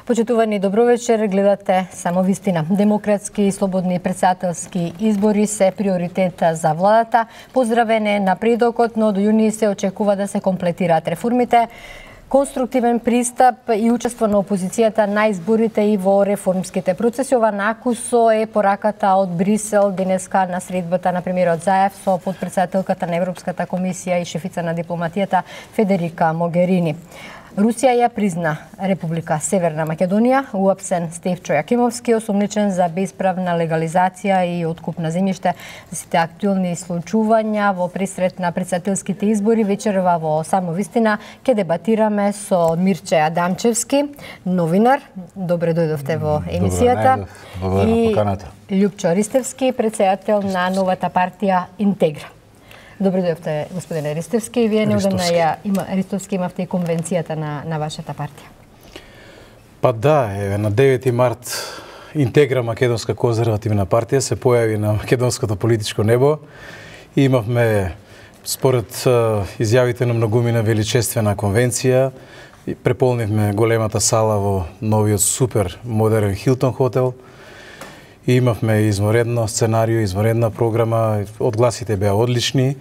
Почитувани, добровечер, гледате Само вистина. Демократски и слободни претседателски избори се приоритет за владата. Поздравен е напредокот, но до јуни се очекува да се комплетираат реформите. Конструктивен пристап и учество на опозицијата на изборите и во реформските процеси. Ова накусо е пораката од Брисел денеска на средбата на премиерот Заев со подпредседателката на Европската комисија и шефица на дипломатијата Федерика Могерини. Русија ја призна Република Северна Македонија, уапсен Стефчо Јакимовски, осомничен за бесправна легализација и откуп на земјиште. За сите актуелни случувања во пресрет на претседателските избори вечерва во Само вистина ќе дебатираме со Мирче Адамчевски, новинар. Добре дојдовте во емисијата. И Љупчо Ристевски, претседател на новата партија Интегра. Добре дојдовте, господине Ристевски. Вие неодамна Ристовски имавте и конвенцијата на вашата партија. Па да, на 9 март Интегра, македонска конзервативна партија, се појави на македонското политичко небо и имавме, според изјавите на многумина, величествена конвенција. Преполнивме големата сала во новиот супер модерен Хилтон хотел. И имавме изморедно сценарио, изморедна програма, одгласите беа одлични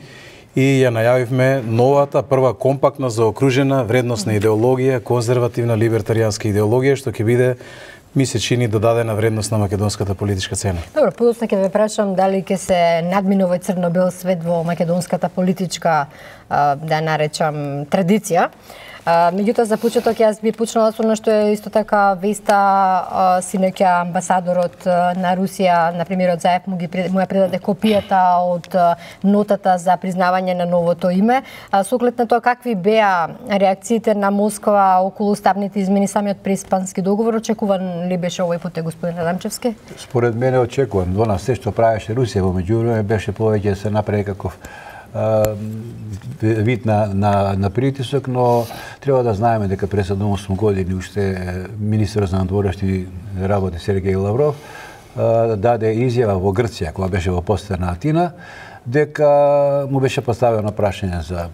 и ја најавивме новата прва компактна заокружена вредносна идеологија, конзервативна либертаријанска идеологија, што ќе биде, ми се чини, додадена вредност на македонската политичка цена. Добро, подоцна ќе ве прашам дали ќе се надмине овој црно-бел свет во македонската политичка, да наречам, традиција. Меѓутоа, за почеток јас би почнала со нешто е исто така веста синоќа амбасадорот на Русија, на премиерот Заев, му ја предаде копијата од нотата за признавање на новото име. Со оглед на тоа, какви беа реакциите на Москва околу уставните измени, самиот преспански договор, очекуван ли беше овој пат, господин Адамчевски? Според мене очекуван. До нас се што правеше Русија во меѓувреме беше повеќе се направи каков вид на притисок, но треба да знаеме дека пред 7-8 години уште министерот за надворешни работи Сергеј Лавров даде изјава во Грција, кога беше во посета на Атина, дека му беше поставено прашање за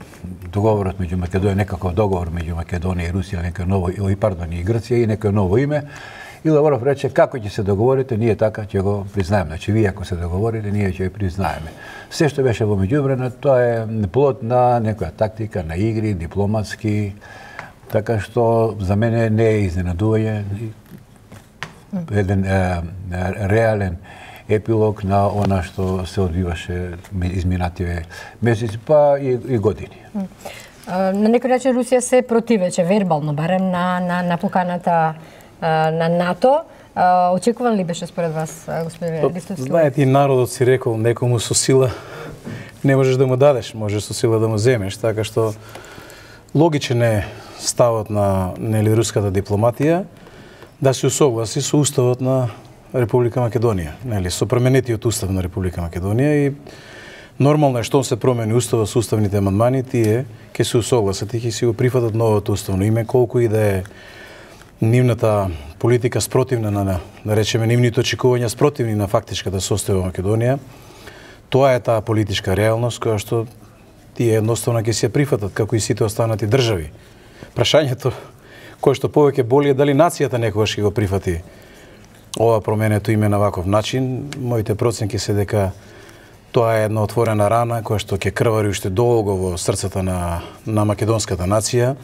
договорот меѓу Македонија, некаков договор меѓу Македонија и Русија, некој ново, и Грција и некој ново име. И Лавров рече, како ќе се договорите, ние така ќе го признаеме. Значи, вие ако се договорите, ние ќе го признаеме. Се што беше во меѓувреме, тоа е плод на некоја тактика, на игри, дипломатски, така што за мене не е изненадување, еден реален епилог на она што се одвиваше изминативе месеци, па и години. На некој начин Русија се противече, вербално, барем на поканата на НАТО. Очекуван ли беше според вас, господин Ристовски? Знаете, и народот си рекол, некому со сила не можеш да му дадеш, можеш со сила да му земеш, така што логичен е ставот на руската дипломатија да се усогласи со уставот на Република Македонија, со променетиот устав на Република Македонија и нормално е што се промени уставот со уставните амандмани, тие ќе се усогласат и ќе си го прифатат новото уставно име, колку и да е нивната политика спротивна на, да речеме, нивните очекувања спротивни на фактичката состојба во Македонија. Тоа е таа политичка реалност која што тие едноставно ќе се прифатат, како и сите останати држави. Прашањето кое што повеќе боли е дали нацијата некогаш ќе го прифати ова променето име на ваков начин. Моите проценки се дека тоа е една отворена рана која што ќе крвари уште долго во срцата на македонската нација.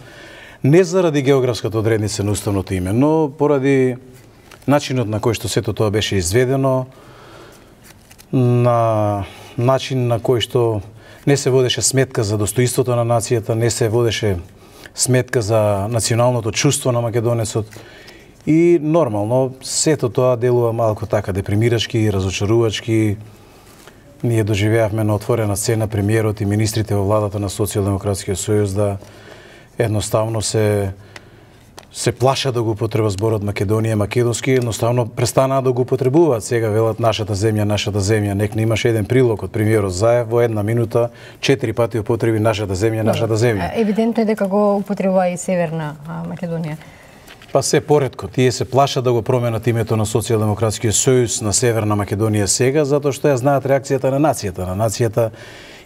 Не заради географската одредница на уставното име, но поради начинот на кој што сето тоа беше изведено, на начин на кој што не се водеше сметка за достоинството на нацијата, не се водеше сметка за националното чувство на македонецот и нормално сето тоа делува малку така депримирачки, разочарувачки. Ние доживеавме на отворена сцена премиерот и министрите во владата на Социјалдемократскиот сојуз да едноставно се плаша да го употреба зборот Македонија, македонски, едноставно престанаа да го употребуваат. Сега велат нашата земја, нек не имаше еден прилог од премиерот Заев во една минута 4 пати употреби нашата земја. Евидентно е дека го употребува и Северна Македонија. Па се поредко, тие се плашат да го променат името на Социјалдемократскиот сојуз на Северна Македонија сега, затоа што ја знаат реакцијата на нацијата. На нацијата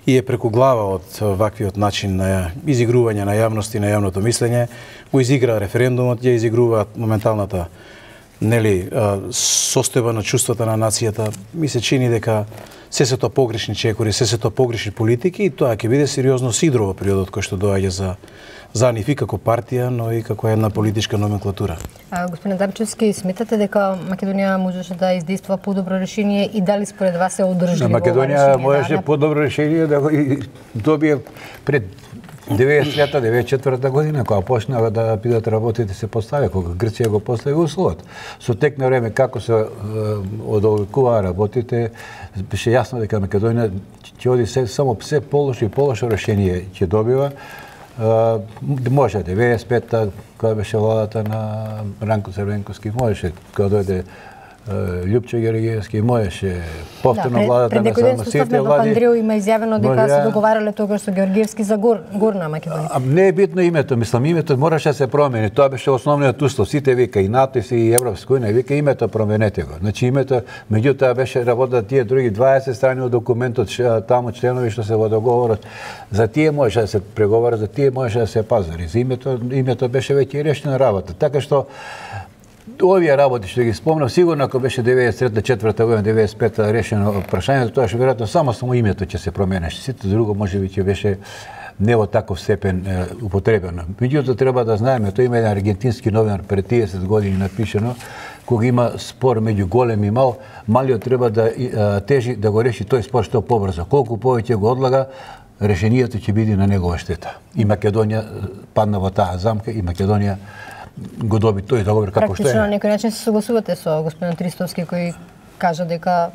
и е преку глава од ваквиот начин на изигрување на јавност и на јавното мислење, го изигра референдумот, ја изигруваат моменталната состојба на чувствата на нацијата. Ми се чини дека се тоа погрешни чекори, се тоа погрешни политики и тоа ќе биде сериозно сидро во периодот кој што доаѓа за нив и како партија, но и како една политичка номенклатура. Господин Дамчевски, сметате дека Македонија можеше да издейства подобро решение и дали според вас е одржливо? Македонија можеше подобро решение да го добие пред 93-94 година, кога почнаа да бидат работите се постави, кога Грција го постави условот. Со тек на време како се одоликуваа работите, беше јасно дека Македонија ќе оди само се полошо и полошо решение ќе добива. Може 95-та, кога беше владата на Ранко Црвенковски, можеше кога дојде Љупчо Георгиевски, можеше повторно владата на само сите влади. Андрео има изјавено дека се договарале тогаш со Георгиевски за Горна Македонија. Не е битно името, мислам, името мораше да се промени. Тоа беше основниот услов. Сите вика и НАТО и Европска унија вика името променете го. Значи името, меѓутоа беше работат тие други 20 страни од документот, таму членови што се во договорот. За тие можеше да се преговара, за тие можеше да се пазари. За името беше веќе решена работа. Така што овие работи што ги спомнав, сигурно ако беше 93-4 година, 95-та решено прашањето, тоа што веројатно само името ќе се променеше. Сите друго можеби ќе беше не во таков степен употребено. Меѓутоа треба да знаеме, тоа има еден аргентински новинар пред 30 години напишено, кога има спор меѓу голем и мал, малиот треба да тежи да го реши тој спор што побрзо. Колку повеќе го одлага, решението ќе биде на негова штета. И Македонија падна во таа замка и Македонија го доби тој договор како што е. Практично на некој начин се согласувате со господин Тристовски кој кажа дека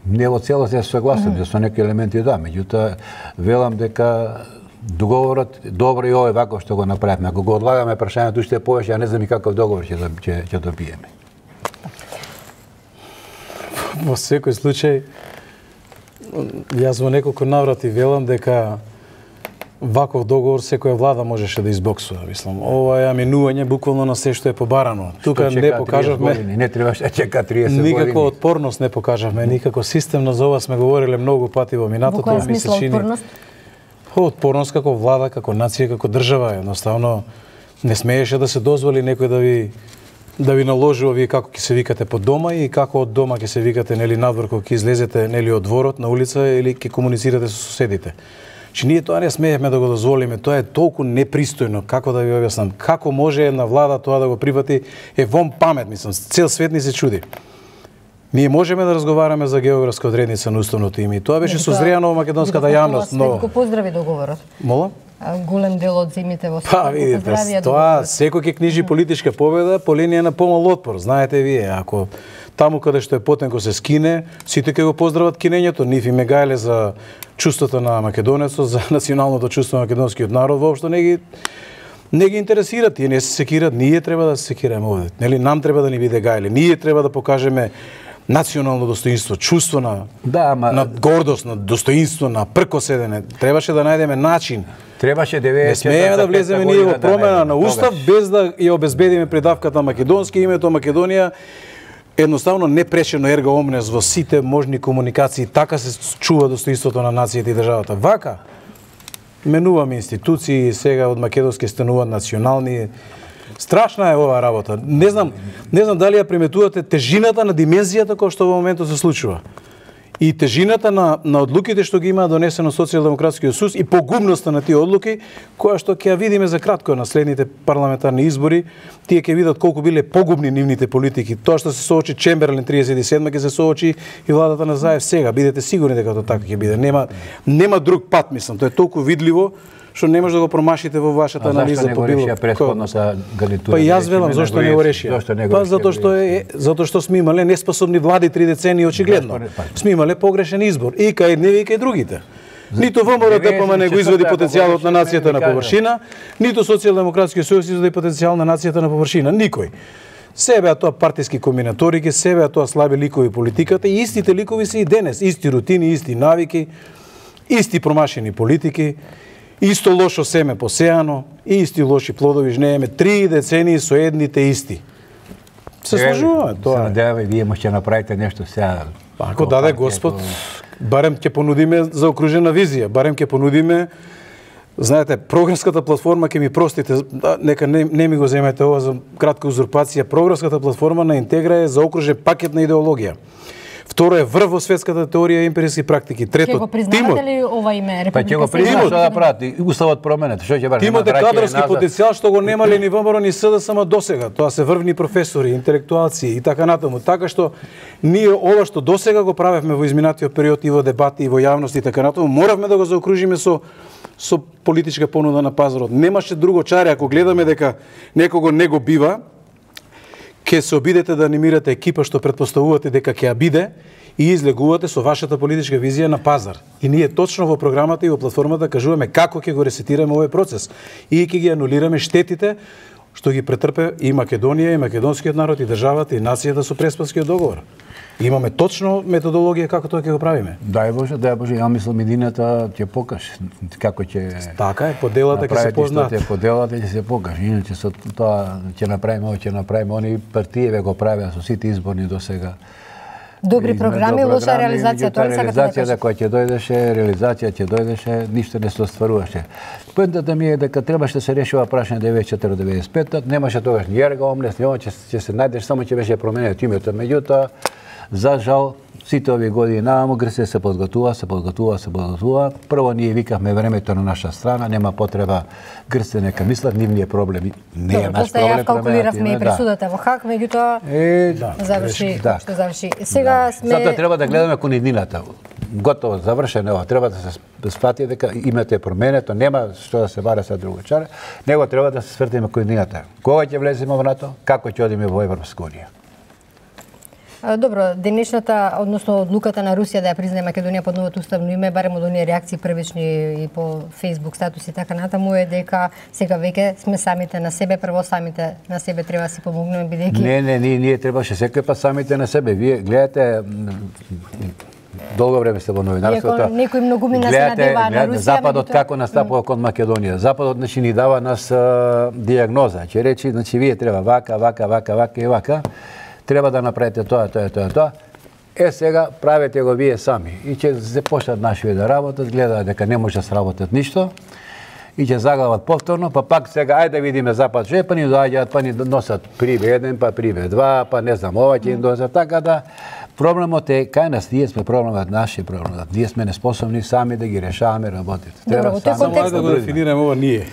не во целост се согласувам, со некои елементи да, меѓутоа велам дека договорот добро и ова вако што го направивме. Ако го одлагаме прашањето уште повеќе, ја не знам и каков договор ќе добиеме. Во секој случај, јас во неколку наврати велам дека ваков договор секоја влада можеше да избоксува, мислам. Ова е минување буквално на се што е побарано. Тука не покажавме, не требаше да чека 30 години. Никаква отпорност не покажавме, никако системно за ова сме говориле многу пати во минатото, ми се чини. Отпорност како влада, како нација, како држава, едноставно не смееше да се дозволи некој да ви наложи вие како ќе се викате по дома и како од дома ќе се викате надвор кога ќе излезете од дворот на улица или ќе комуницирате со соседите. Че ние тоа не смеевме да го дозволиме, тоа е толку непристојно, како да ви објаснам, како може една влада тоа да го прифати, е вон памет, мислам, цел свет ни се чуди. Ние можеме да разговараме за географска одредница на уставното име и тоа беше созреано во македонската јавност, но Го поздрави договорот. Мола? Голем дел од земјите во светот видите, тоа секој ќе книжи политичка победа по линија на помал отпор, знаете вие, ако таму каде што е Потенко се скине, сите ќе го поздрават кинењето, нив и мегајле за чувството на македонецот, за националното чувство на македонскиот народ, воопшто не ги интересира, тие не се секират, ние треба да се секираме овде. Нели нам треба да ни биде гајле, ние треба да покажеме национално достоинство, чувство на гордост, на достоинство, на пркоседене. Требаше да најдеме начин. Требаше не смееме да влеземе ние во промена на устав без да ја обезбедиме предавката македонски, името Македонија едноставно непречено ерга омнес во сите можни комуникации, така се чува достоинството на нацијата и државата. Вака менуваме институции, сега од македонски стануваат национални. Страшна е оваа работа. Не знам дали ја приметувате тежината на димензијата која што во моментот се случува. И тежината на одлуките што ги има донесено Социјалдемократскиот сојуз и погубноста на тие одлуки, која што ќе ја видиме за кратко на следните парламентарни избори, тие ќе видат колку биле погубни нивните политики. Тоа што се соочи Чемберлен 37 ќе се соочи и владата на Заев сега. Бидете сигурни дека тоа така ќе биде. Нема друг пат, мислам. Тоа е толку видливо што не може да го промашите во вашата анализа по било. Па јас велам зошто не го решија. Па затоа што сме имале неспособни влади 3 децении очигледно. Сме имале погрешен избор и кај едневе и кај другите. Ниту ВМРО ДПМН не го извади потенцијалот на нацијата на површина, ниту Социјалдемократскиот сојуз извади потенцијал на нацијата на површина. Никој. Се беа тоа партиски комбинаторики, се беа тоа слаби ликови политиката и истите ликови се и денес. Исти рутини, исти навики, исти промашени политики. Исто лошо семе посеано, исти лоши плодови жнееме, 3 децении со едните исти. Се сложуваме тоа. Се надеваме, вие можете направите нешто сега. Ако даде Господ, Барем ќе понудиме заокружена визија, барем ќе понудиме. Знаете, програмската платформа, ќе ми простите, нека не ми го земете ова за кратка узурпација. Програмската платформа на Интегра е заокружен пакет на идеологија. Второ е врв во светската теорија и емпириски практики. Трето, ќе го признавате ли ова име Република Па ќе го признавате што да прават? Уставот променет. Што ќе баре? Тимот е кадрски потенцијал што го немале ни ВМРО ни СДСМ досега. Тоа се врвни професори, интелектуалци и така натаму. Така што ние ова што досега го правевме во изминатиот период и во дебати и во јавност и така натаму, моравме да го заокружиме со политичка понуда на пазарот. Немаше друго чаре. Ако гледаме дека некого не го бива, ќе се обидете да анимирате екипа што претпоставувате дека ќе ја биде и излегувате со вашата политичка визија на пазар. И ние точно во програмата и во платформата кажуваме како ќе го ресетираме овој процес и ќе ги анулираме штетите што ги претрпе и Македонија, и македонскиот народ, и државата, и нацијата со Преспанскиот договор. Имаме точно методологија како тоа ќе го правиме. Дај Боже, ја мислам едината ќе покаже како ќе. Така е, поделата ќе се познаат. Поделата ќе се покаже. Иначе со тоа ќе направиме, ќе направиме, они партијеве го правеа со сите изборни досега. Добри програми, лоша реализација, тоа сакате да кажете. Реализацијата која ќе дојдеше, реализација ќе дојдеше, ништо не се остваруваше. Поентата ми е дека требаше да се решува прашање 94-95, немаше тогаш ни ерга омнес, ќе се најдеш, само ќе беше променето името. Меѓутоа, за жал, сите овие години нааму Грција се подготвува. Прво ние викавме времето на наша страна, нема потреба Грција нека мислат, нивниот проблем не е наш проблем. Ја калкулиравме и пресудата во Хаг, меѓутоа заврши што заврши. Сега сме Затоа треба да гледаме кон иднината. Готово, завршено ова. Треба да се сфати дека името е променето, нема што да се бара со друго чаре. Него треба да се свртиме кон иднината. Кога ќе влеземе во НАТО? Како ќе одиме во Европска унија? Добро, денешната, односно одлуката на Русија да ја признае Македонија под новото уставно име, барем од оние реакции првични и по Facebook статуси така натаму е дека сега веќе сме самите на себе, прво самите на себе треба да си помогнеме бидејќи. Не, ние требаше секој пат самите на себе. Вие гледате долго време сте во новинарството. Некои многумина се надева на Русија. Западот како настапува кон Македонија. Западот значи ни дава нас дијагноза. Ќе речи значи вие треба вака. Треба да направите тоа. Сега правете го вие сами. И ќе се почнат нашите да работат, гледаат дека не може да сработат ништо. И ќе заглават повторно, па пак сега ајде да видиме Запад, па ни доаѓаат, па ни носат приве 1, па приве 2, па не знам ова ќе им донесат, така да проблемот е кај нас, ние сме проблемот, нашиот проблемот. Ние сме неспособни сами да ги решаваме работите. Добро, само ајде да го дефинираме ова ние.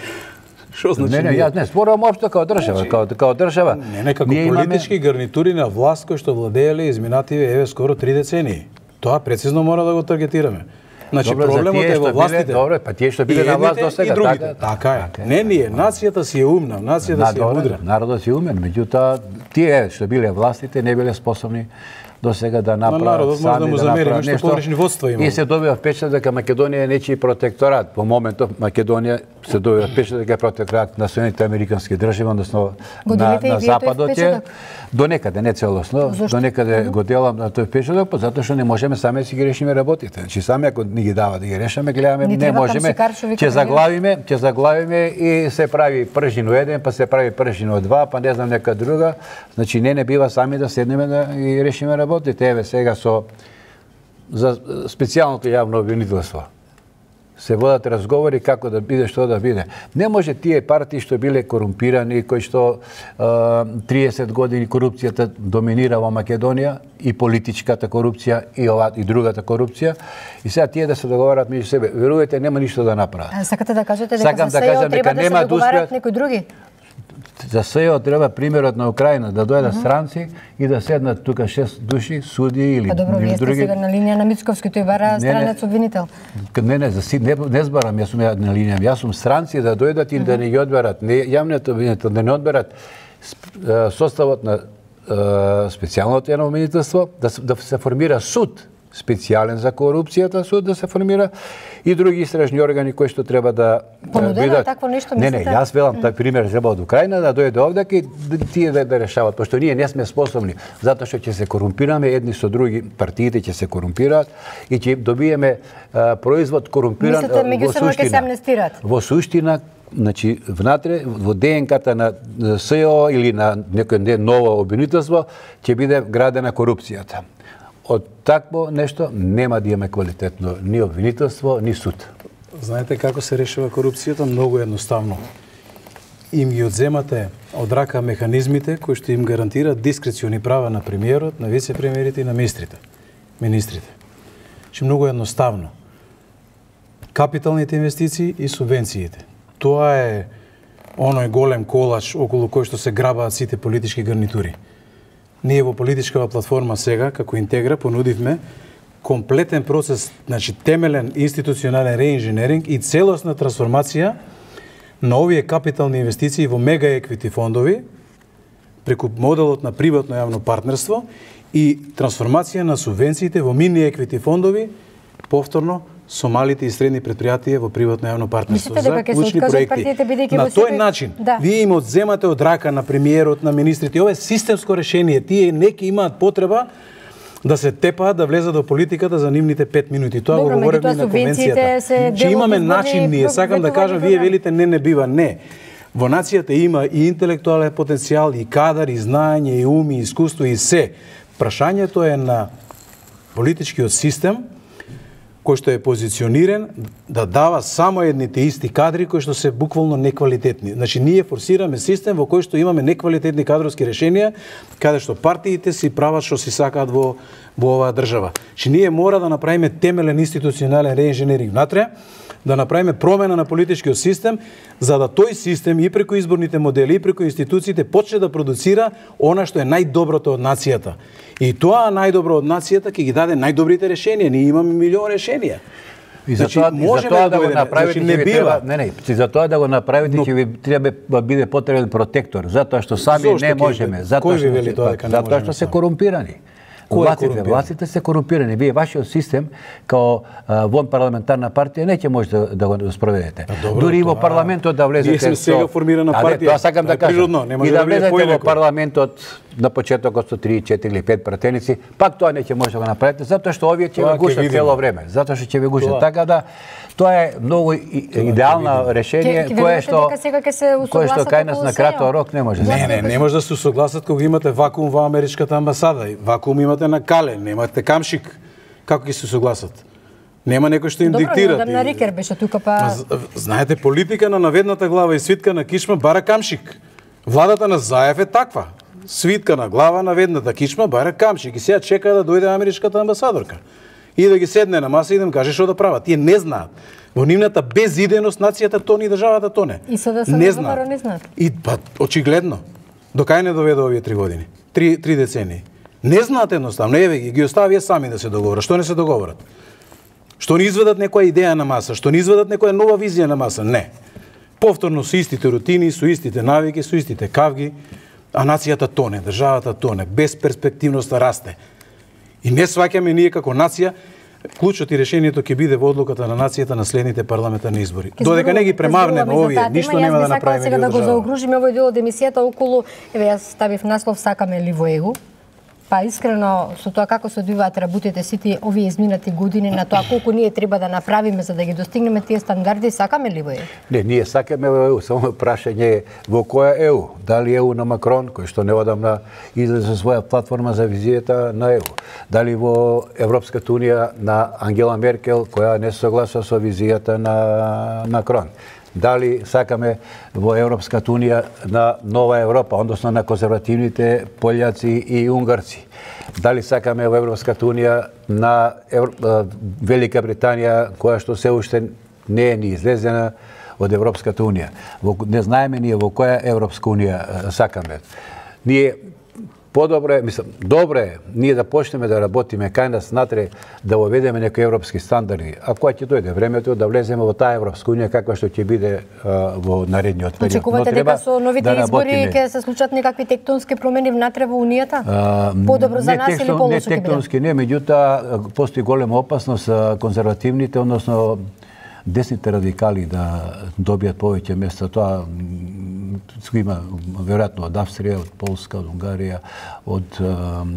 Што значи? Не, јас не спорам општо како држава, како држава. Не, како политички гарнитури на власт кои што владееле изминативе еве скоро 3 децении. Тоа прецизно мора да го таргетираме. Значи проблемот е во властите. Добро, па тие што биле на власт досега, така е. Не ние, нацијата си е умна, нацијата си е мудра. Народот си умен, меѓутоа тие што биле властите не биле способни досега да направат сами да направат нешто. Погрешни водства има. И се добива впечаток дека Македонија е нечии протекторат. Во моментов Македонија се добива впечаток дека е протекторат на Соединетите американски држави, односно на Западот е до некаде, не целосно, до некаде го делам на тој впечаток, затоа што не можеме сами да си ги решиме работите. Значи сами ако ни ги дава да ги решаме, гледаме не можеме. Ќе заглавиме и се прави пржино 1, па се прави пржино 2, па не знам нека друга. Значи не бива сами да седнеме да ги решиме работите. Еве сега за специјалното јавно обвинителство. Се водат разговори како да биде, што да биде. Не може тие партии што биле корумпирани, кои што 30 години корупцијата доминира во Македонија, и политичката корупција, и другата корупција, и сега тие да се договарат меѓу себе. Верувате, нема ништо да направат. Сакате да кажете дека за СЕО треба да се договарат некои други? За СЕО треба примерот на Украина, да дојдат странци и да седнат тука 6 души, суди или добро, вие сте сега на линија на Мицковски, тој бара странец обвинител. Не збарам, јас сум на линија, јас сум странци да дојдат и да не ги одберат, јавниот обвинител да не одберат составот на специјалното јавно обвинителство, да се формира суд специјален за корупцијата, суд да се формира и други истражни органи кои што треба да понудено такво нешто мислите? Не, јас велам тај пример треба од Украина да дојде овде и тие да решават, пошто ние не сме способни, затоа што ќе се корумпираме едни со други, партиите ќе се корумпираат и ќе добиеме производ корумпиран во суштина. Мислите меѓусебно ќе се амнестираат? Во суштина, значи внатре во ДНК-та на СЕО или на некој ново обвинителство ќе биде градена корупцијата. од такво нешто нема да имаме квалитетно ни обвинителство, ни суд. Знаете како се решава корупцијата? Многу едноставно. Им ги одземате од рака механизмите кои што им гарантираат дискрециони права на премиерот, на вице-премиерите и на министрите. Многу едноставно. Капиталните инвестиции и субвенциите. Тоа е оној голем колач околу кој што се грабаат сите политички гарнитури. Ние во политичкава платформа сега, како Интегра, понудивме комплетен процес, значи темелен институционален реинженеринг и целосна трансформација на овие капитални инвестиции во мега еквити фондови, преку моделот на приватно јавно партнерство и трансформација на субвенциите во мини еквити фондови, повторно со малите и средни предпријатија во приватно јавно партнерство за клучни проекти. На тој начин, вие им одземате од рака на премиерот, на министрите. Ова е системско решение. Тие неки имаат потреба да се тепаат, да влезат во политиката за нивните 5 минути. Тоа го говоревме на конвенцијата. Че имаме начин ние, сакам да кажам, вие велите не бива, не. Во нацијата има и интелектуален потенцијал, и кадар, и знаење, и ум, и искуство, и се. Прашањето е на политичкиот систем кој што е позициониран да дава само едните исти кадри кои што се буквално неквалитетни. Значи, ние форсираме систем во кој што имаме неквалитетни кадровски решенија, каде што партиите си прават што си сакаат во оваа држава. Че ние мора да направиме темелен институционален реинженеринг внатре, да направиме промена на политичкиот систем, за да тој систем и преку изборните модели, и преку институциите почне да продуцира она што е најдоброто од нацијата. И тоа најдобро од нацијата ќе ги даде најдобрите решенија. Ние имаме милион решенија. И за тоа да го направите ќе ви треба, за тоа да го направите ќе ви треба да биде потребен протектор, затоа што сами не можеме, затоа што се корумпирани. Властите се корумпирани. Вие вашиот систем као вон парламентарна партија не ќе може да го спроведете. Дури и во парламентот да влезете. Ние сме сега формирана партија. Тоа сакам да кажам. И да влезете во парламентот на почетокот со 3, 4 или 5 пратеници, пак тоа не ќе може да го направите, затоа што овие ќе ви гушат цело време. Затоа што ќе ви гушат. Така да тоа е многу идеално решение кое што кај нас на краток рок не може. Не може да се согласат кога имате вакуум во америчката амбасада. Вакуум имате на Кале, немате камшик. Како ќе се согласат? Нема некој што им диктира. Добро, на Рикер беше тука па. Знаете, политика на наведната глава и свитка на кичма бара камшик. Владата на Заев е таква. Свитка на глава, наведната кичма бара камшик. И сега чека да дојде америчката амбасадорка. И да ги седне на маса и да им каже што да прават. Тие не знаат. Во нивната безидејност нацијата тоне и државата тоне. И со да се не знаат. И очигледно. До кај не доведе овие 3 години? 3 децении. Не знаат едноставно. Еве ги оставија сами да се договорат. Што не се договорат? Што не изведат некоја идеја на маса? Што не изведат некоја нова визија на маса? Не. Повторно со истите рутини, со истите навики, со истите кавги, а нацијата тоне, државата тоне, безперспективноста расте. И не сваќаме ние како нација, клучот и решението ќе биде во одлуката на нацијата на следните парламентарни избори. Додека не ги премавнеме овие, ништо нема да направиме сега да го заокружиме овој дел од емисијата околу, еве јас ставив наслов сакаме ли во ЕУ. Па искрено со тоа како се одвиваат работите сите овие изминати години на тоа колку ние треба да направиме за да ги достигнеме тие стандарди, сакаме ли во ЕУ? Не, ние сакаме во ЕУ, само прашање е во која ЕУ? Дали ЕУ на Макрон, кој што неодамна излезе со своја платформа за визијата на ЕУ? Дали во Европската унија на Ангела Меркел, која не се согласува со визијата на Макрон? Дали сакаме во Европската унија на Нова Европа, односно на конзервативните пољаци и унгарци? Дали сакаме во Европската унија на Велика Британија, која што се уште не е ни излезена од Европската унија? Не знаеме ние во која Европска унија сакаме. Ние подобро е, мислам, добро е ние да почнеме да работиме кај нас натре, да воведеме некои европски стандарди, а кога ќе дојде времето да влеземе во таа Европска унија каква што ќе биде во наредниот период. Очекувате дека со новите избори ќе се случат некакви тектонски промени внатре во унијата? Подобро за нас или полошо ќе биде? Не тектонски, не, меѓутоа постои голема опасност конзервативните, односно десните радикали да добијат повеќе места. Тоа има веројатно од Австрија, од Полска, од Унгарија, од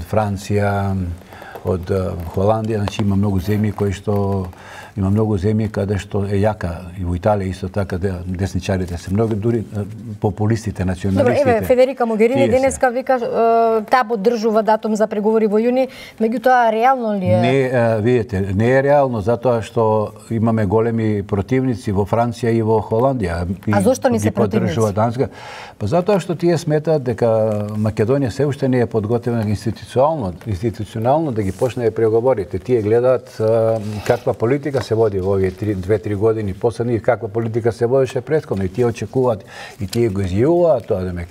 Франција, од Холандија, значи има многу земји каде што е јака, и во Италија исто така десничарите се многу, дури популистите, националистите. Добро, еве Федерика Могерини денеска вика таа поддржува датум за преговори во јуни, меѓутоа реално ли е? Не, видите, не е реално затоа што имаме големи противници во Франција и во Холандија. А зошто ни се противници? Па затоа што тие сметаат дека Македонија се уште не е подготвена институционално да ги почне преговорите. Тие гледаат каква политика се води во овие 2-3 години последни и каква политика се водеше претходно, и тие очекуваат и тие го изјавуваат тоа, демек.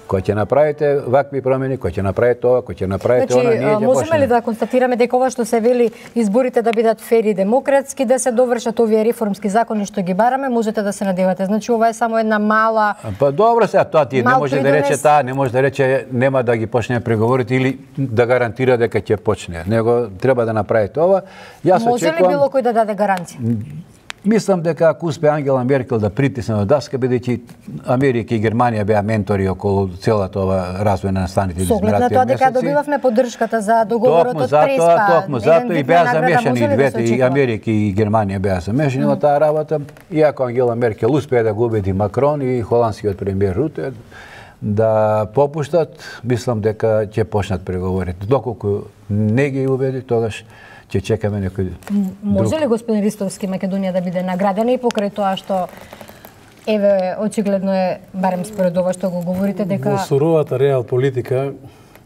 Кој ќе направите вакви промени, кој ќе направи тоа, кој ќе направи тоа, ние ќе можеме ли да констатираме дека ова што се вели изборите да бидат фери и демократски, да се довршат овие реформски закони што ги бараме, можете да се надевате. Значи ова е само една мала. Па добро сега тоа ти не може да рече таа, не може да рече нема да ги почне преговорите или да гарантира дека ќе почне. Него треба да направите ова. Јас очекувам. Може ли било кој да даде гаранција? Мислам дека ако успе Ангела Меркел да притисне на даска, бидејќи Америка и Германија беа ментори околу целата ова развој на настаните измеративни месеци. Соглед на тоа дека добивавме поддршката за договорот од Преспа. Токму затоа и беа замешани и двете, и Америка и Германија беа замешани во таа работа. Иако Ангела Меркел успеа да го убеди Макрон и холандскиот премиер Руте да попуштат, мислам дека ќе почнат преговорите. Доколку не ги убеди, тогаш ќе чекаме некој Може ли господин Ристовски Македонија да биде наградена и покрај тоа што еве очигледно е, барем според ова што го говорите, дека во суровата реал политика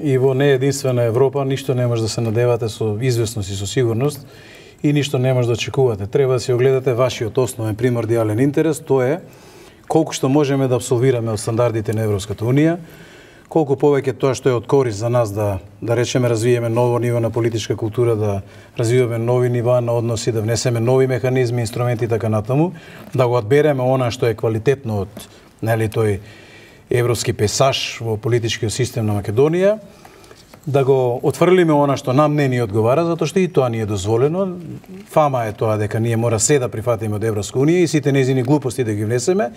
и во не единствена Европа ништо не може да се надевате со известност и со сигурност и ништо не може да очекувате. Треба да си огледате вашиот основен примордијален интерес, тоа е колку што можеме да апсолвираме од стандардите на Европската унија, колку повеќе тоа што е од корист за нас да речеме развиеме ново ниво на политичка култура, да развиваме нови нива на односи, да внесеме нови механизми, инструменти и така натаму, да го одбереме она што е квалитетно од тој европски песаж во политичкиот систем на Македонија, да го отфрлиме она што нам не ни одговара, затоа што и тоа ни е дозволено. Фама е тоа дека ние мора се да прифатиме од Европска унија и сите нејзини глупости да ги внесеме.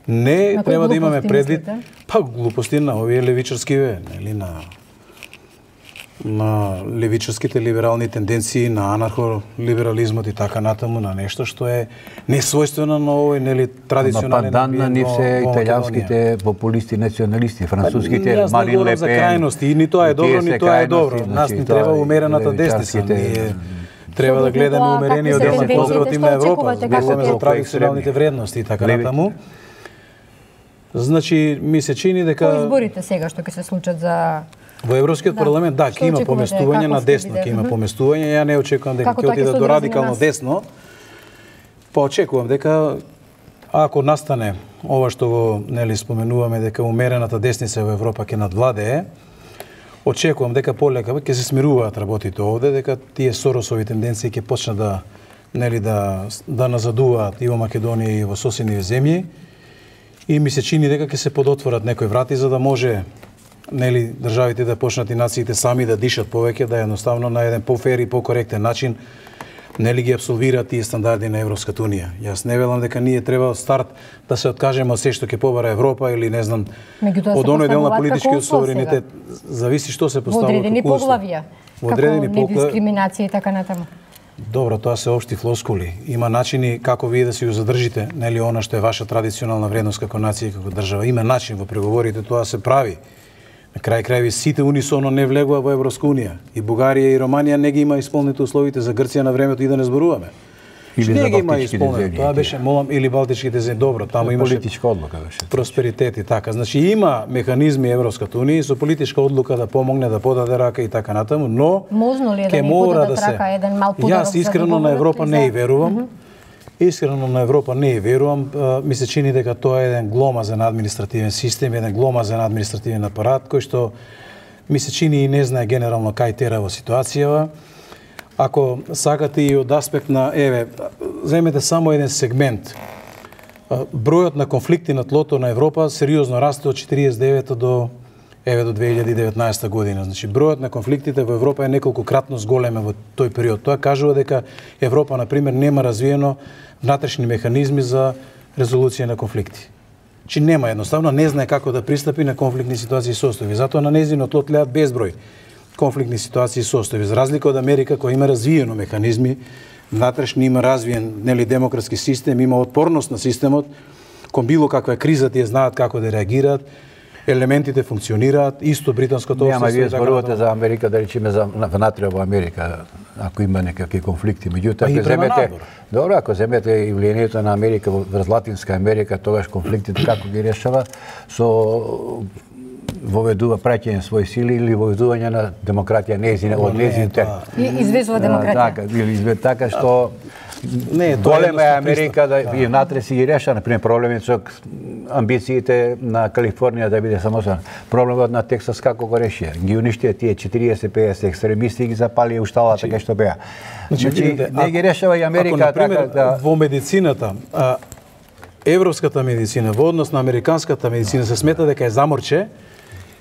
Не, треба да имаме предвид, па глупости на овие левичарски, нели, на левичарските либерални тенденции, на анархолиберализмот и така натаму, на нешто што е несвојствено на овој, нели, традиционален амбиент. Пандан на нив се италијанските популисти, националисти, француските Марин Ле Пен. За крајности, и ни тоа е добро, ни тоа е добро. Нас ни треба умерената десница. Треба да гледаме умерениот дел на конзервативна Европа, зборуваме за традиционалните вредности и така натаму. Значи, ми се чини дека По изборите сега што ќе се случат за во Европскиот парламент, да, ќе има поместување на десно, ќе има поместување. Ја не очекувам дека ќе отиде до радикално десно. Па очекувам дека ако настане ова што го нели споменуваме дека умерената десница во Европа ќе надвладее, очекувам дека полека ќе се смируваат работите овде, дека тие Соросови тенденции ќе почнат да нели да назадуваат и во Македонија и во соседни земји. И ми се чини дека ќе се подотворат некои врати за да може нели државите да почнат и нациите сами да дишат повеќе, да едноставно на еден пофер и покоректен начин нели ги апсолвираат тие стандарди на Европската унија. Јас не велам дека ние треба од старт да се откажеме од се што ќе побара Европа или не знам од оној дел на политичкиот суверенитет. Зависи што се поставува како одредени поглавја, како недискриминација и така натаму. Добро, тоа се општи флоскули. Има начини како вие да си го задржите, нели она што е ваша традиционална вредност како нација и како држава. Има начин во преговорите, тоа се прави. На крај крајви сите унисоно не влегува во Европска унија. И Бугарија и Романија не ги има исполнети условите за Грција на времето и да не зборуваме. Или не за ги има балтичките исполнено. земји. Тоа беше молам или балтичките земји. Добро, таму имаше политичка одлука беше. Просперитет и така. Значи има механизми Европската унија со политичка одлука да помогне да подаде рака и така натаму, но можно ли е да ни подадат рака еден мал подарок? Јас искрено на Европа не и верувам. Искрено на Европа не и верувам. Ми се чини дека тоа е еден гломазен административен систем, еден гломазен административен апарат кој што ми се чини и не знае генерално кај тера во ситуацијава. Ако сакате и од аспект на, земете само еден сегмент. Бројот на конфликти на тлото на Европа сериозно расте од 49 до 2019 година. Значи, бројот на конфликтите во Европа е неколкократно зголемен во тој период. Тоа кажува дека Европа, например, нема развиено внатрешни механизми за резолуција на конфликти. Чи нема, едноставно не знае како да пристапи на конфликтни ситуации и состојби. Затоа на нејзино тло тлеат безброј конфликтни ситуации и состојби. За разлика од Америка, која има развиено механизми, внатрешни има развиен демократски систем, има отпорност на системот, кон било каква криза тие знаат како да реагираат, елементите функционираат, исто британското општество. Нема, вие зборувате за Америка, да речеме за внатре во Америка, ако има некакви конфликти. Меѓутоа, ако земете, добро, ако земете и влијанието на Америка врз Латинска Америка, тогаш конфликтите како ги решава со воведува праќање своји сили или воведување на демократија од незините. Извезува демократија. Така, или така што голема е Америка да и внатре си ги реша, например, проблемите со амбициите на Калифорнија да биде самостојна. Проблемот на Тексас како го решија? Ги уништија тие 40-50 екстремисти и ги запалија ушталата така што беа. Значи, не ги решава и Америка така да во медицината, европската медицина во однос на американската медицина се смета дека е заморче,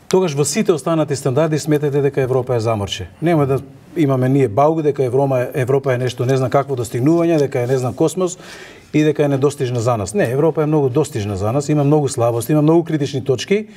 тогаш во сите останати стандарди сметате дека Европа е заморче. Нема да имаме ние бауг дека Европа е нешто не знам какво достигнување, дека е не знам космос и дека е недостижна за нас. Не, Европа е многу достижна за нас, има многу слабости, има многу критични точки.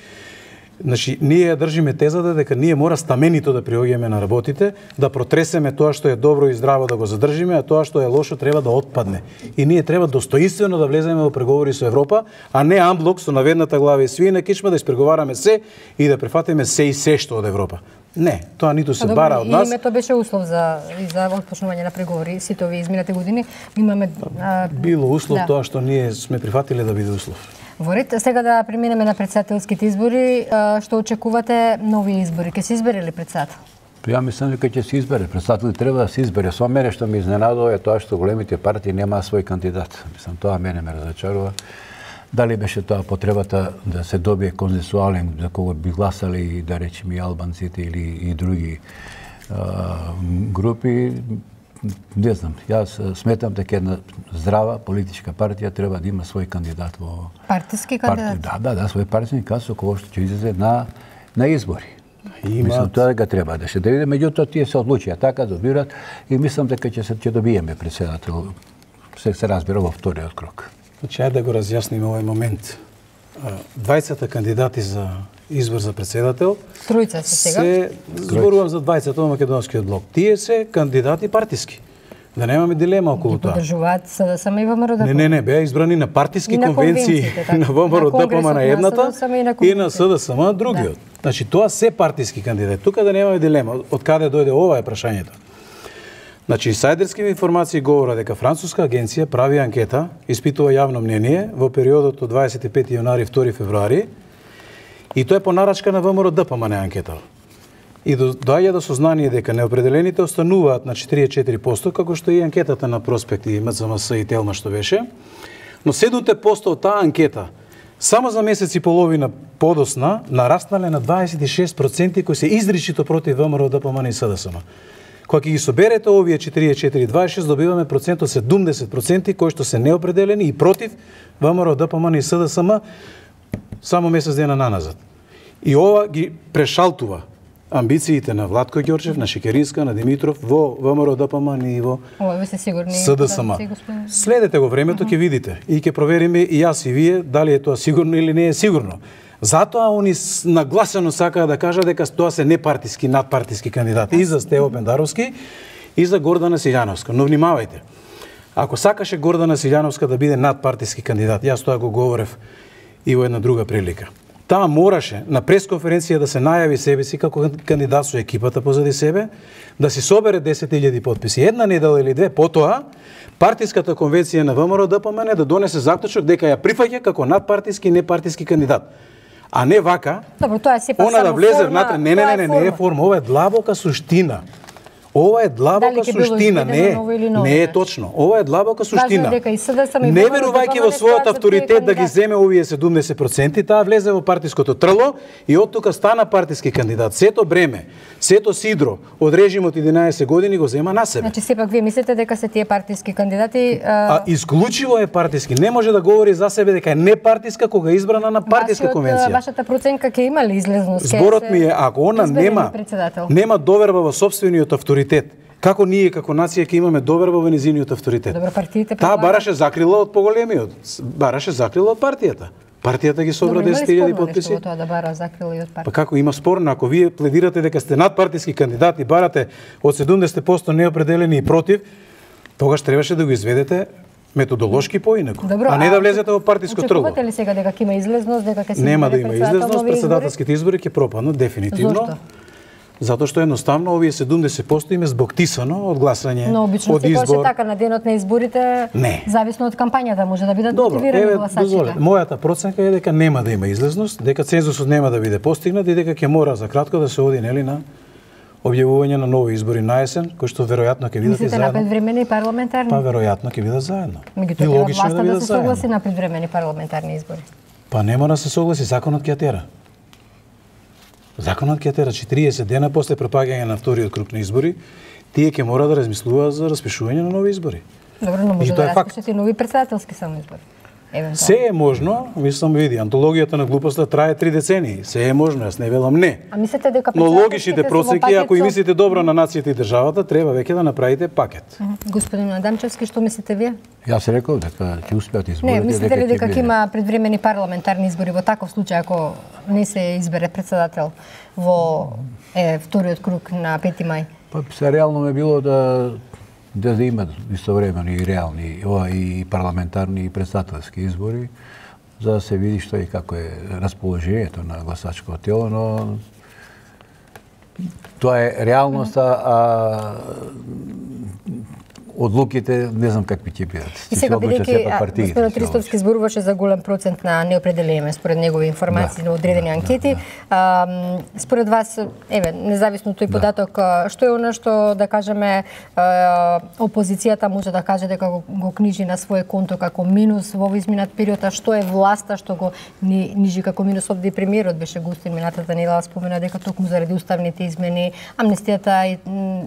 Значи, ние држиме тезата дека ние мора стаменито да приоѓаме на работите, да протресеме тоа што е добро и здраво да го задржиме, а тоа што е лошо треба да отпадне. И ние треба достоинствено да влеземе во преговори со Европа, а не амблок со наведната глава и свиена кичма да испреговараме се и да префатиме се и се што од Европа. Не, тоа ниту се бара од нас. И тоа беше услов за отпочнување на преговори сите овие изминати години. Имаме било услов тоа што ние сме прифатиле да биде услов. Во ред, сега да преминеме на претседателските избори, што очекувате нови избори? Ке се избере ли претседател? Ја мислам дека ќе се избере. Претседател треба да се избере. Со мене што ме изненадува е тоа што големите партии немаа свој кандидат. Мислам, тоа мене ме разочарува. Дали беше тоа потребата да се добие консенсуален за кого би гласали, да речеме, и албанците или и други групи? Не знам, јас сметам дека една здрава политичка партија треба да има свој кандидат во партиски кандидат. Да, свој партиски кандидат со кој што ќе излезе на избори. Мислам тоа дека треба да се види, меѓутоа тие се одлучија така да добират и мислам дека ќе добиеме претседател. Се разбира во вториот крок. Значи, ајде да го разјасниме овој момент. 20 кандидати за избор за претседател. Тројца се сега. Се зборувам за 20 во македонскиот блок. Тие се кандидати партиски. Да немаме дилема околу тоа. Подржуваат СДСМ и ВМРО-ДПМН. Не, беа избрани на партиски конвенции на ВМРО-ДПМН на едната и на СДСМ на другиот. Значи тоа се партиски кандидати. Тука да немаме дилема од каде дојде ова е прашањето. Значи, инсайдерски информации говорат дека француска агенција прави анкета, испитува јавно мнение во периодот од 25 јаnuари 2 февруари и тоа е по нарачка на ВМРО-ДПМН анкета. И доаѓа до сознание дека неопределените остануваат на 44%, како што и анкетата на Проспект и МЦМС и Телма што беше, но 7% од таа анкета само за месец и половина подосна нараснале на 26% кои се изричито против ВМРО-ДПМН и СДСМ. Кога ќе ги соберете овие 44-26, добиваме процент од 70% кои што се неопределени и против ВМРО-ДПМН и СДСМ само месец дена наназад. И ова ги прешалтува амбициите на Владко Ѓорчев, на Шекеринска, на Димитров во ВМРО-ДПМН и во СДСМ. Следете го времето, ќе видите и ќе провериме и јас и вие дали е тоа сигурно или не е сигурно. Затоа они нагласено сакаат да кажат дека тоа се непартиски, надпартиски кандидати и за Стево Пендаровски и за Гордана Силјановска. Но внимавајте, ако сакаше Гордана Силјановска да биде надпартиски кандидат, јас тоа го говорев и во една друга прилика. Таа мораше на пресконференција да се најави себе си како кандидат со екипата позади себе, да си собере 10.000 потписи. Една недела или две потоа, партиската конвенција на ВМРО-ДПМН да донесе заклучок дека ја прифаќа како надпартиски и непартиски кандидат. А не вака, добро, тоа е сепак она да влезе внатре. Не е форма, ова е длабока суштина. Ова е длабока суштина, не е точно. Ова е длабока суштина. Не верувајќи во својот авторитет да ги земе овие 70%, таа влезе во партиското трло и од тука стана партиски кандидат. Сето бреме, сето сидро од режимот 11 години го зема на себе. Значи сепак вие мислите дека се тие партиски кандидати исклучиво е партиски. Не може да говори за себе дека е непартиска кога е избрана на партиска конвенција. Вашата проценка ќе има ли излезност? Зборот ми е, ако она нема доверба во сопствениот авторитет, како ние како нација ќе имаме доверба во незиниот авторитет. Добро, партиите таа бараше закрила од поголемиот, бараше закрила од партијата. Партијата ги собра 10.000 потписи. Тоа да бара закрили од партија. Па како има спорно, ако вие пледирате дека сте надпартиски кандидат и барате од 70% неопределени и против, тогаш требаше да го изведете методолошки поинаку, а не да влезете во партиско тргло. Очекувате ли сега дека ќе има излезност, дека ќе се нема да има излезност, председателските избори ќе пропаднат дефинитивно. Зошто? Затоа што едноставно овие 70% им е збоктисано од гласање, но обично од избор. Но така на денот на изборите, не. Зависно од кампањата може да бидат мотивирани гласачите. Мојата проценка е дека нема да има излезност, дека цензусот нема да биде постигнат и дека ќе мора за кратко да се оди нели на објавување на нови избори на есен, кои што веројатно ќе бидат и заедно. Мислите на предвремени парламентарни? Па веројатно ќе бидат заедно. И логично е да се согласи на предвремени парламентарни избори. Па нема да се согласи, законот ќе тера. Законот ќе тера 40 дена после пропагање на вториот круг на избори, тие ќе мора да размислуваат за распишување на нови избори. Добро, но може да распишат и нови председателски само избори. Се е можно, мислам, види, антологијата на глупоста трае 3 децении. Се е можно, јас не велам не. А мислите дека но логичните процеки, ако и мислите добро на нацијата и државата, треба веќе да направите пакет. Господин Адамчевски, што мислите вие? Јас реков дека ќе успеат изборите. Не, мислите ли дека ќе има предвремени парламентарни избори во таков случај ако не се избере председател во вториот круг на 5 мај? Па се реално ме било да имат истовремено и реални и парламентарни и председателски избори, за да се види што и како е расположението на гласачкото тело, но тоа е реалноста, а одлуките не знам какви ќе бидат. И сега бидејќи господин Ристовски зборуваше за голем процент на неопределение според негови информации на одредени анкети, според вас, независно тој податок, што е она што да кажеме опозицијата може да каже дека го книжи на свое конто како минус во изминат период, а што е власта што го нижи како минус? Овде и премиерот беше гостин минатата недела, спомена дека токму заради уставните измени, амнестијата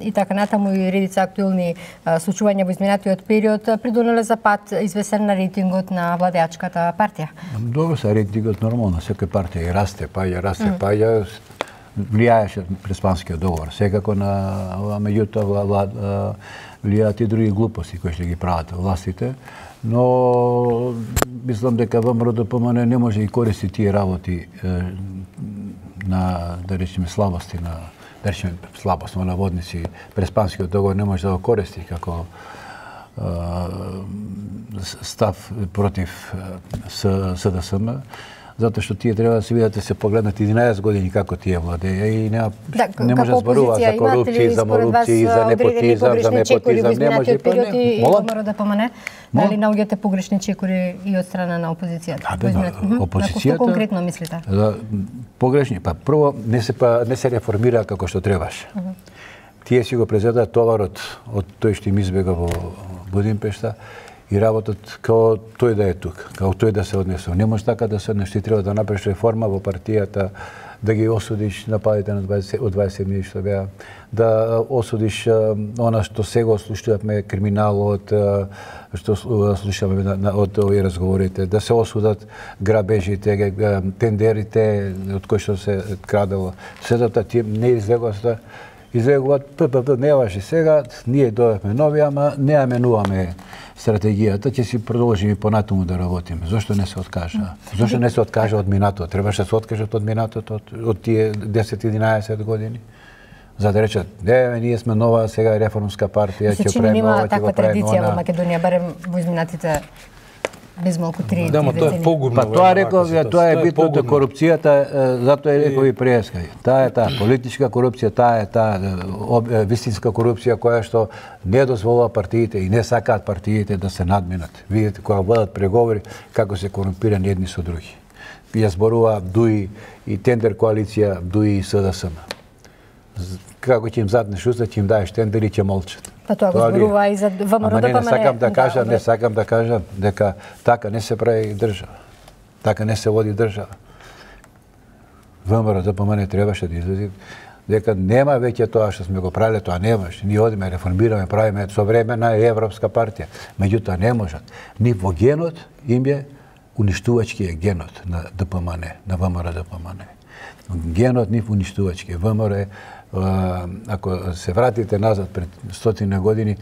и така натаму и редица актуелни случувања во изминатиот период придонеле за пат извесен на рейтингот на владеачката партија. Добро, са рейтингот нормално, секоја партија и расте, паѓа, влијаеше Преспанскиот договор. Секако на меѓутоа влијаат и други глупости кои што ги прават властите, но мислам дека ВМРО-ДПМН не може да користи тие работи на, да речеме, слабости на слабост на наводници, Преспанскиот договор не може да го користи како став против СДСМ, затоа што тие треба да се видат, да се погледнат 11 години како тие владеја и не може да зборува за корупција, за морупција, за непотизам, не може и ВМРО-ДПМН. Дали наоѓате погрешни чекори и од страна на опозицијата? Опозицијата? Што конкретно мислите? Погрешни, па прво не се реформира како што требаше. Тие си го презедаа товарот од тој што им избега во Будимпешта и работат као тој да е тук, као тој да се однесува. Не може така да се однесува, треба да направиш реформа во партијата, да ги осудиш нападите од 27 што беа, да осудиш она што сега слушавме криминалот, што слушаме од овие разговорите, да се осудат грабежите, тендерите од кои што се крадело. Сето тие не излегуваат ППП не важи сега, ние дојавме нови, ама не ја менуваме стратегијата, ќе си продолжиме понатаму да работиме. Зошто не се откажа? Зошто не се откажа од минатото? Требаше да се откажат од минатото, од тие 10-11 години? За да речат, ние сме нова сега реформска партија, ќе правиме ова, ќе го правиме она. Таква традиција во Македонија, барем во изминатите безмалку 3 Да, ма тоа е погубно. Па тоа реков, тоа е битното корупцијата, затоа реков и преска. Таа е таа политичка корупција, таа е таа вистинска корупција која што не дозволува партиите и не сакаат партиите да се надминат. Видите кога водат преговори како се корумпирани едни со други. Ја зборува ДУИ и тендер коалиција ДУИ и СДСМ. Како ќе им заднеш уста, ќе им даеш тендер и ќе молчат. Па тоа го зборува и за ВМРО-ДПМН. Не сакам да кажам дека така не се прави држава. Така не се води држава. ВМРО-ДПМН требаше да излезе дека нема веќе тоа што сме го правиле, тоа не може. Ние одиме, реформираме, правиме современа европска партија. Меѓутоа не можат. Ни во генот им е уништувачки е генот на ДПМН, на ВМРО-ДПМН. Генот нив уништувачки. ВМРО ако се вратите назад пред 100 години,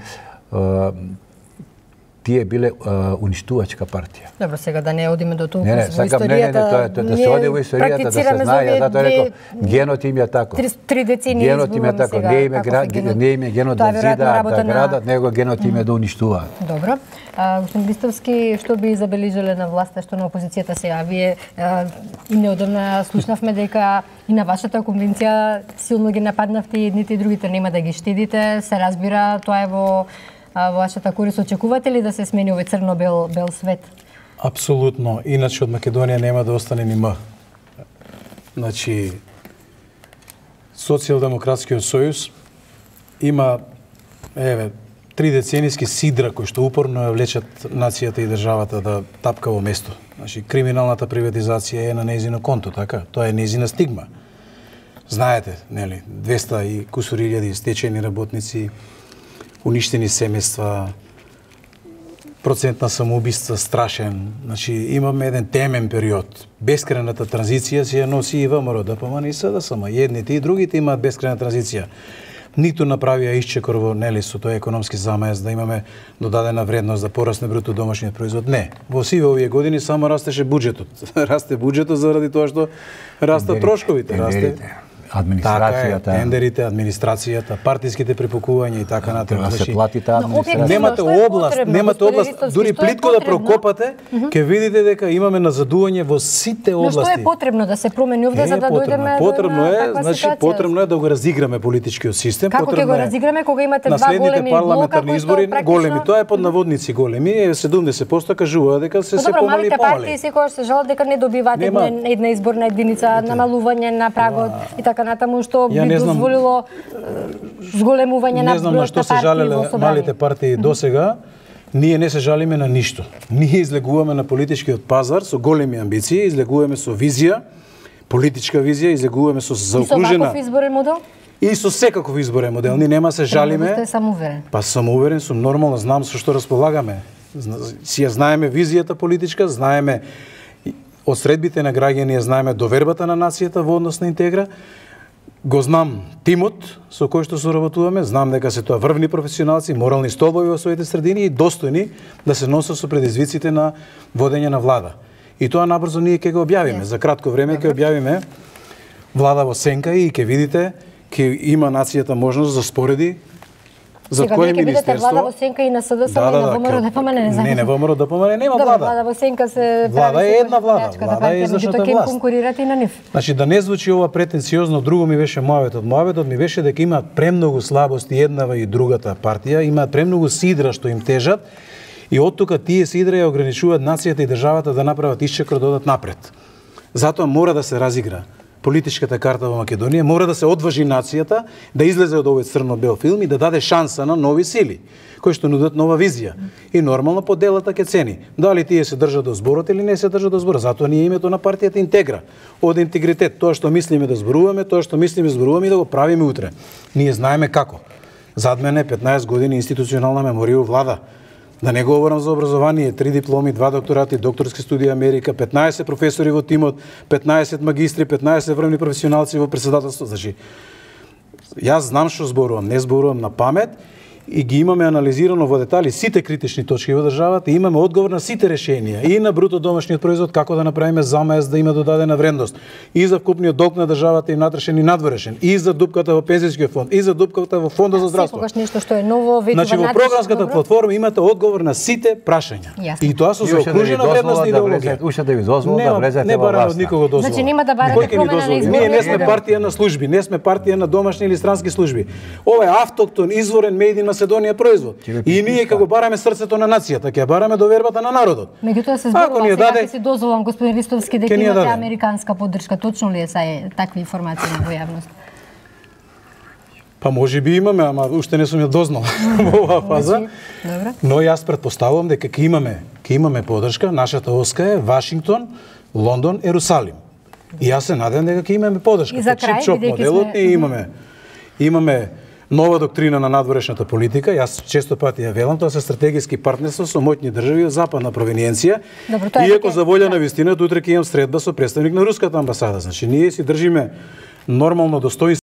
тие биле уништувачка партија. Добро, сега да не одиме до толку во историјата. Да се оди во историјата, да се знае, затоа рекол, генот им е тако. 3 децении генот им е тако, не им е генот да зидаат, да градат, него генот им е да уништуваат. Добро. Господин Бистовски, што би забележале на власта, што на опозицијата сега? Вие и неодамна слушнавме дека и на вашата конвенција силно ги нападнавте и едните и другите, нема да ги штедите, се разбира, тоа е во вашата корист. Очекувате ли да се смени овој црно-бел свет? Апсолутно. Иначе од Македонија нема да остане ни М. Значи, Социјалдемократскиот сојуз има 3 деценијски сидра кои што упорно ја влечат нацијата и државата да тапка во место. Значи, криминалната приватизација е на нејзино конто, така? Тоа е нејзина стигма. Знаете, нели, 200 и кусури илјади стечени работници, уништени семејства, процент на самоубиства страшен. Значи, имаме еден темен период. Бескрајната транзиција си ја носи и ВМРО, ДПМН и СДСМ. Едните и другите имаат бескрајна транзиција. Ниту направија исчекор во, нели, со тој економски замајаз да имаме додадена вредност, да порасне бруто домашниот производ. Не. Во сиве овие години само растеше буџетот. Расте буџетот заради тоа што растат трошковите. Администрацијата, така е, тендерите, администрацијата, партиските препукувања и така натаму. Да се плати таа администрација. Немате област, дури плитко да прокопате, ќе видите дека имаме назадување во сите области. Но што е потребно да се промени овде за да дојдеме до таква ситуација? Потребно е да го разиграме политичкиот систем. Како ќе го разиграме кога имате два големи парламентарни избори, големи, тоа е под наводници големи, 70% кажува дека се помали и малите партии секогаш се жалат дека не добиваат една изборна единица, намалување на прагот и така натаму, што би дозволило зголемување на бројот на партии во собрание. Не знам на што се жалеле малите партии досега. Ние не се жалиме на ништо. Ние излегуваме на политичкиот пазар со големи амбиции, излегуваме со визија, политичка визија, излегуваме со заокружена... И со ваков изборен модел? И со секаков изборен модел. Ние нема се жалиме. Сте самоуверен? Па самоуверен сум, нормално, знам со што располагаме. Си ја знаеме визијата политичка, знаеме од средбите на граѓани, знаеме довербата на нацијата во однос на Интегра. Го знам тимот со кој што соработуваме, знам дека се тоа врвни професионалци, морални столбови во своите средини и достојни да се носат со предизвиците на водење на влада. И тоа набрзо ние ќе го објавиме. За кратко време ќе објавиме влада во сенка и ќе видите, ќе има нацијата можност да спореди за кое министерство. Сега ќе видите влада во сенка и на СДСМ и на ВМРО ДПМН, не знам. Не, ВМРО ДПМН нема влада. Влада во сенка се влада е една влада, влада е извршната власт. Ќе конкурирате и на нив. Значи да не звучи ова претенциозно, друго ми беше мојавето. Мојавето ми беше дека имаат премногу слабости еднава и другата партија, имаат премногу сидра што им тежат и од тука тие сидра ја ограничуваат нацијата и државата да направат исчекор да одат напред. Затоа мора да се разигра политичката карта во Македонија, мора да се одважи нацијата да излезе од овој црно-бел филм и да даде шанса на нови сили, кои што нудат нова визија. И нормално поделата ќе цени. Дали тие се држат до зборот или не се држат до зборот. Затоа ние името на партијата Интегра. Од интегритет, тоа што мислиме да зборуваме, тоа што мислиме зборуваме и да го правиме утре. Ние знаеме како. Зад мене 15 години институционална меморија у влада. Да не говорам за образование, 3 дипломи, 2 докторати, докторски студии Америка, 15 професори во тимот, 15 магистри, 15 врвни професионалци во председателство. Значи, јас знам што зборувам, не зборувам на памет и ги имаме анализирано во детали сите критични точки во државата и имаме одговор на сите решенија и на бруто домашниот производ, како да направиме замајаз да има додадена вредност, и за вкупниот долг на државата и внатрешен и надворешен, и за дупката во пензијскиот фонд, и за дупката во фондот за здравство. Секогаш нешто што е ново, веќе значи, во програмската платформа имате одговор на сите прашања. Јасно. И тоа со заокружена вредност и идеологија. Уште да ви дозвола да влезете не во власта. Не бараме од никого дозвола. Значи нема да барате промена на изборот. Ние не сме партија на служби, не сме партија на домашни или странски служби. Ова е автохтон, изворен made in Македонија производ. И ние како бараме срцето на нацијата, ќе бараме довербата на народот. Меѓутоа се зборува сега ќе си дозволам господин Ристовски дека имате американска поддршка. Точно ли е такви информации во јавност? Па може би имаме, ама уште не сум ја дознал во оваа фаза. Но јас претпоставувам дека ќе имаме поддршка. Нашата оска е Вашингтон, Лондон, Ерусалим. И јас се надевам дека ќе имаме поддршка. И за крај, бидејќи имаме нова доктрина на надворешната политика. Јас често пати ја велам, тоа се стратегиски партнерство со моќни држави од западна провениенција. Иако за волја на вистината, утре ќе имам средба со представник на руската амбасада. Значи ние си држиме нормално достоинство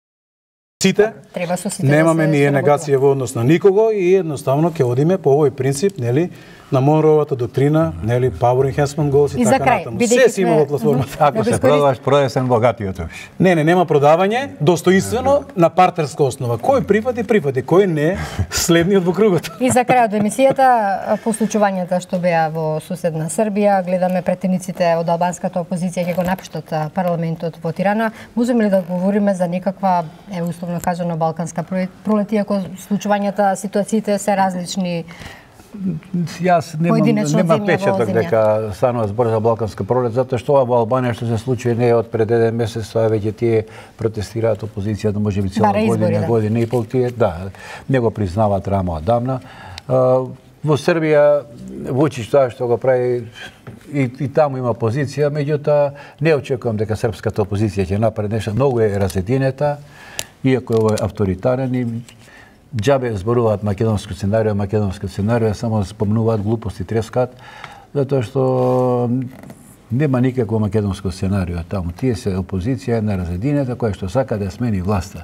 сите. Треба со сите. Немаме ние негација во однос на никого и едноставно ќе одиме по овој принцип, нели, на Монроевата доктрина, нели, power enhancement goals и така натаму. Се си има во платформата. Ако се продаваш, продај се богатиот. Не, нема продавање, достоинствено на партнерска основа. Кој прифати, кој не, следниот во кругот. И за крајот од емисијата, по случувањата што беа во суседна Србија, гледаме претениците од албанската опозиција ќе го напуштат парламентот во Тирана. Можеме ли да говориме за некаква, условно кажано, балканска пролетија, ако случувањата, ситуациите се различни? Јас нема печаток дека станува збор за балканска пролет, затоа што ова во Албанија што се случи не е од пред 1 месец, тоа веќе тие протестираат опозицијата, можеби цела година и пол тие, да, не го признаваат рано одамна. Во Србија Вучич тоа што го прави и таму има опозиција, меѓутоа не очекувам дека српската опозиција ќе направи нешто, многу е разединета, иако е овој авторитарен и џабе зборуваат македонско сценарио, само спомнуваат глупости, трескаат, затоа што нема никакво македонско сценарио таму. Тие се опозиција на разединета која што сака да смени власта.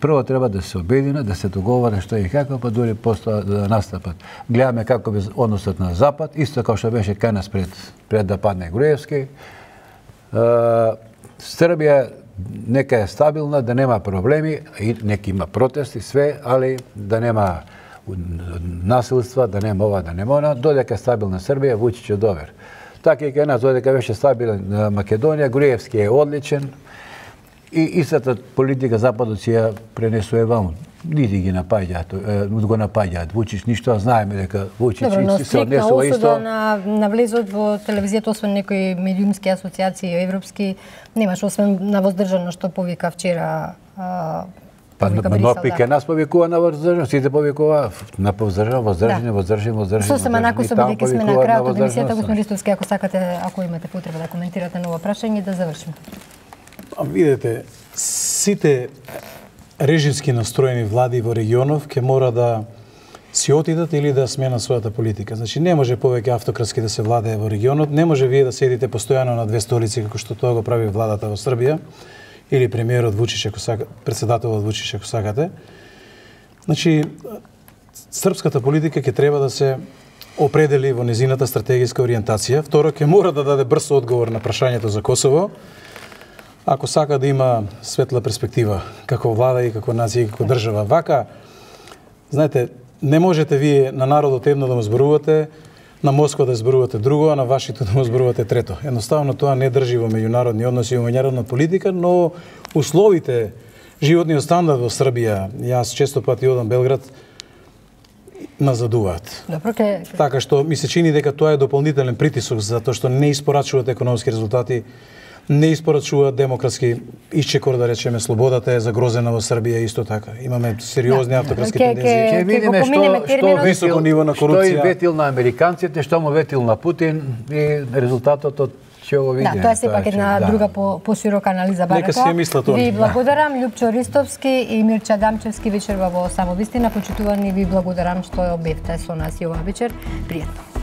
Прво треба да се обединат, да се договорат што и како, па дури после да настапат. Гледаме како би односот на Запад, исто како што беше кај нас пред да падне Груевски. Србија нека е стабилна, да нема проблеми, и нека има протести, све, али да нема насилства, да нема ова, да нема она, додека е стабилна Србија, Вучич е добар. Така и кај нас, додека беше стабилна Македонија, Груевски е одличен и истата политика Западот си ја пренесува ваму. Нити ги го напаѓаат. Вучич ништо, знаеме дека Вучич се однесува исто. Добро, но на влезот во телевизијата, освен некои медиумски асоциации европски, немаш, освен на воздржано што повика вчера но пике нас повикува на воздржано, сите повикува на воздржани. Сосема накусо, бидејќи сме на крајот од емисијата, господин Ристовски, ако сакате, ако имате потреба да коментирате ново прашање, да завршиме. Видете, сите режимски настроени влади во регионов ќе мора да си отидат или да сменат својата политика. Значи, не може повеќе автократски да се владее во регионот, не може вие да седите постојано на две столици, како што тоа го прави владата во Србија, или премиерот Вучич, ако сакате, председателот Вучич, ако сакате. Значи, српската политика ќе треба да се определи во незината стратегиска ориентација. Второ, ќе мора да даде брз одговор на прашањето за Косово, ако сака да има светла перспектива како влада и како нација и како држава. Вака, знаете, не можете вие на народот едно да му зборувате, на Москва да зборувате друго, а на Вашингтон да му зборувате трето. Едноставно тоа не држи во меѓународни односи и во меѓународна политика, но условите, животниот стандард во Србија, јас често пати одам Белград, назадуваат. Така што ми се чини дека тоа е дополнителен притисок затоа што не испорачуваат економски резултати, не испорачуваат демократски исчекор, да речеме, слободата е загрозена во Србија исто така. Имаме сериозни автократски тенденции. Ќе видиме што високо ниво на корупција. Што и ветил на американците, што му ветил на Путин и резултатот од ќе го видиме. Да, тоа е сепак една друга поширока анализа барата. Нека си мисла тоа. Ви благодарам, Љупчо Ристовски и Мирча Дамчевски вечерва во Самовистина. Почитувани, ви благодарам што бевте со нас и оваа вечер. Пријатно.